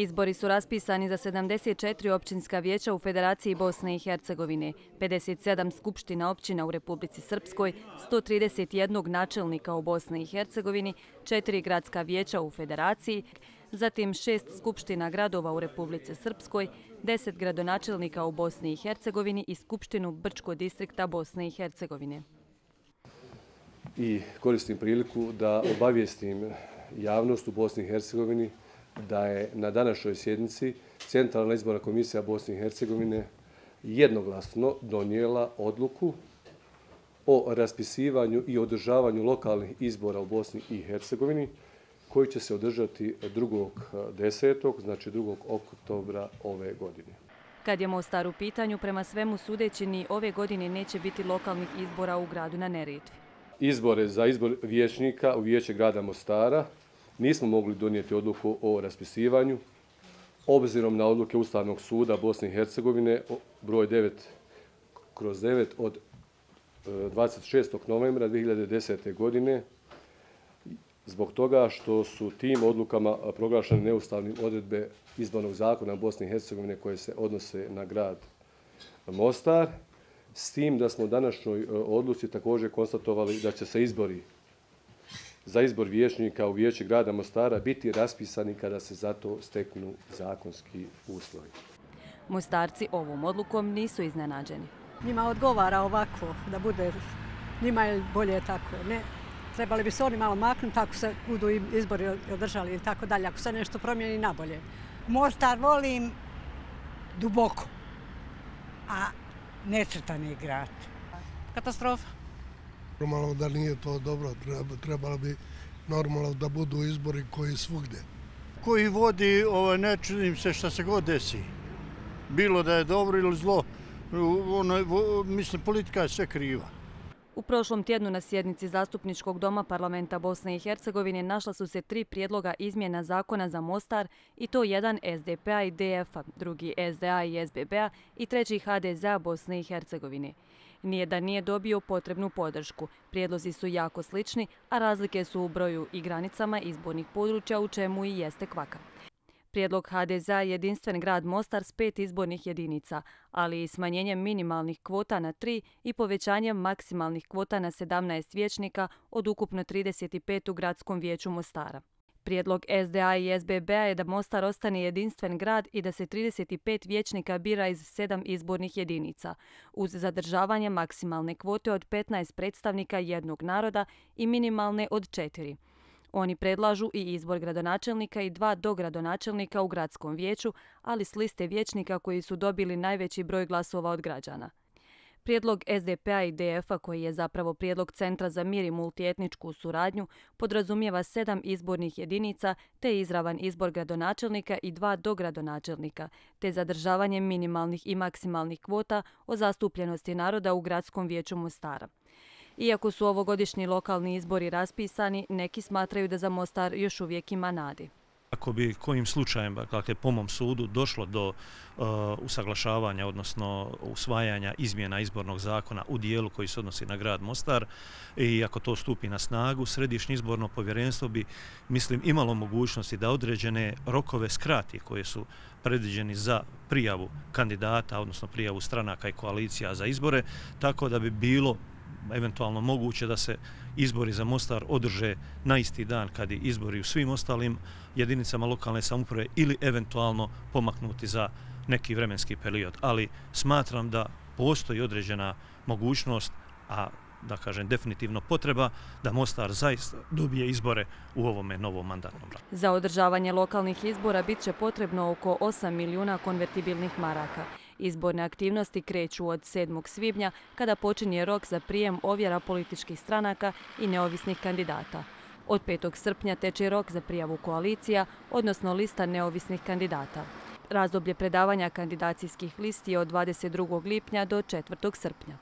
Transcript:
Izbori su raspisani za 74 općinska vijeća u Federaciji Bosne i Hercegovine, 57 skupština općina u Republici Srpskoj, 131 načelnika u Bosni i Hercegovini, 4 gradska vijeća u Federaciji, zatim 6 skupština gradova u Republici Srpskoj, 10 gradonačelnika u Bosni i Hercegovini i skupštinu Brčkog distrikta Bosne i Hercegovine. I koristim priliku da obavijestim javnost u Bosni i Hercegovini da je na današnjoj sjednici Centralna izborna komisija Bosne i Hercegovine jednoglasno donijela odluku o raspisivanju i održavanju lokalnih izbora u Bosni i Hercegovini koji će se održati 2.10., znači 2. oktobra ove godine. Kad je Mostar u pitanju, prema svemu sudeći ni ove godine neće biti lokalnih izbora u gradu na Neretvi. Izbore za izbor vijećnika u Vijeće grada Mostara nismo mogli donijeti odluku o raspisivanju, obzirom na odluke Ustavnog suda Bosne i Hercegovine broj 9/9 od 26. novembra 2010. godine, zbog toga što su tim odlukama proglašene neustavnim odredbe izbornog zakona Bosne i Hercegovine koje se odnose na grad Mostar, s tim da smo u današnjoj odluci također konstatovali da će se izbori za izbor vijećnika u Vijeće grada Mostara biti raspisani kada se za to steknu zakonski uslovi. Mostarci ovom odlukom nisu iznenađeni. Njima odgovara ovako, da bude, njima je bolje tako. Ne, trebali bi se oni malo maknuti ako se budu izbori održali i tako dalje, ako se nešto promijeni na bolje. Mostar volim duboko, a necrtani grad. Katastrofa. Normalno da nije to dobro, trebalo bi normalno da budu izbori koji svugdje. Koji vodi, ne čudim se šta se god desi. Bilo da je dobro ili zlo, mislim politika je sve kriva. U prošlom tjednu na sjednici Zastupničkog doma parlamenta Bosne i Hercegovine našla su se 3 prijedloga izmjena zakona za Mostar, i to jedan SDP-a i DF-a, drugi SDA i SBB-a i treći HDZ-a Bosne i Hercegovine. Nijedan nije dobio potrebnu podršku. Prijedlozi su jako slični, a razlike su u broju i granicama izbornih područja, u čemu i jeste kvaka. Prijedlog HDZ-a je jedinstven grad Mostar s 5 izbornih jedinica, ali i smanjenjem minimalnih kvota na 3 i povećanjem maksimalnih kvota na 17 vijećnika od ukupno 35 u gradskom vijeću Mostara. Prijedlog SDA i SBB-a je da Mostar ostane jedinstven grad i da se 35 vijećnika bira iz 7 izbornih jedinica, uz zadržavanje maksimalne kvote od 15 predstavnika jednog naroda i minimalne od 4. Oni predlažu i izbor gradonačelnika i 2 dogradonačelnika u gradskom vijeću, ali s liste vijećnika koji su dobili najveći broj glasova od građana. Prijedlog SDP-a i DF-a, koji je zapravo prijedlog Centra za mir i multietničku suradnju, podrazumijeva 7 izbornih jedinica te izravan izbor gradonačelnika i 2 dogradonačelnika, te zadržavanje minimalnih i maksimalnih kvota o zastupljenosti naroda u gradskom vijeću Mostara. Iako su ovogodišnji lokalni izbori raspisani, neki smatraju da za Mostar još uvijek ima nade. Ako bi kojim slučajem, dakle, po mom sudu, došlo do usaglašavanja, odnosno usvajanja izmjena izbornog zakona u dijelu koji se odnosi na grad Mostar, i ako to stupi na snagu, Središnje izborno povjerenstvo bi, mislim, imalo mogućnosti da određene rokove skrati koje su predviđeni za prijavu kandidata, odnosno prijavu stranaka i koalicija za izbore, tako da bi bilo eventualno moguće da se izbori za Mostar održe na isti dan kad i izbori u svim ostalim jedinicama lokalne samouprave ili eventualno pomaknuti za neki vremenski period. Ali smatram da postoji određena mogućnost, a da kažem definitivno potreba, da Mostar zaista dobije izbore u ovome novom mandatnom razdoblju. Za održavanje lokalnih izbora bit će potrebno oko 8 milijuna konvertibilnih maraka. Izborne aktivnosti kreću od 7. svibnja, kada počinje rok za prijem ovjera političkih stranaka i neovisnih kandidata. Od 5. srpnja teče rok za prijavu koalicija, odnosno lista neovisnih kandidata. Razdoblje predavanja kandidacijskih listi je od 22. lipnja do 4. srpnja.